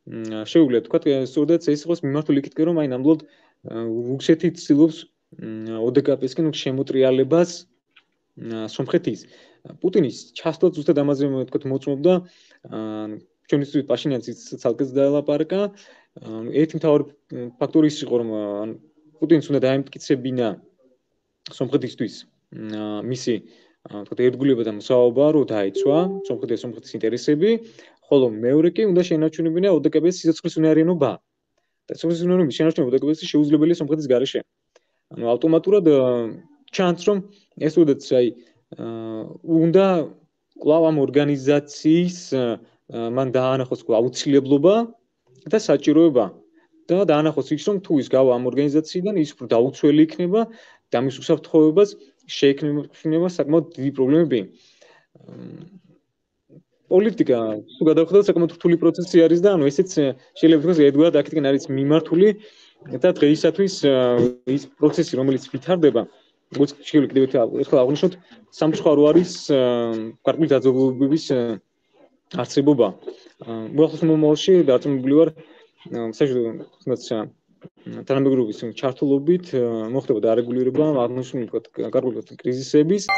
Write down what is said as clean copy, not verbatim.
შეუძლია თქვა სწორედ ეს იყოს მიმართული იქითკენ რომ აი ნამდვილად რუსეთი ცდილობს ოდკპ-სკენ შემოტრიალებას სომხეთის პუტინის ჩასვლა ზუსტად ამაზე თქვა მოწმობდა ჩვენთვის პაშინიანიც ცალკეც დაელაპარაკა ერთი მთავარი ფაქტორი ის იყო რომ პუტინს უნდა დაემტკიცებინა სომხეთისთვის მისი თქვა ერთგულება და მოსაუბრა რომ დაიცვა სომხეთის ინტერესები ხოლო მეორე კი უნდა შეენარჩუნებინა ოდკპ-ის სიცოცხლის უნარიანობა და სიცოცხლის უნარიანობის შენარჩუნება ოდკპ-ის შეუძლებელია სომხეთის გარეშე ანუ ავტომატურად ჩანს რომ ეს უდაც აი უნდა კვლავ ამ ორგანიზაციის მან დაანახოს აუცილებლობა და საჭიროება და დაანახოს ის რომ თუ ის გავა ამ ორგანიზაციიდან ის უფრო დაუცველი იქნება და მის უსაფრთხოებას შეექმნება საკმაოდ დიდი პრობლემები პოლიტიკა თუ გადავხედოთ საკმაოდ რთული პროცესი არის და ანუ ესეც შეიძლება ვთქვათ ერთგვარად აქეთკენ არის მიმართული და დღეისათვის ის პროცესი რომელიც ვითარდება როგორც შეიძლება კიდევ ერთხელ აღვნიშნოთ სამწუხარო არის გარკვეული დაძაბულობების არსებობა უახლოს მომავალში დარწმუნებული ვარ საერთოდ თანამეგობრობის ჩართულობით მოხდება დარეგულირება აღნიშნული გარკვეული კრიზისების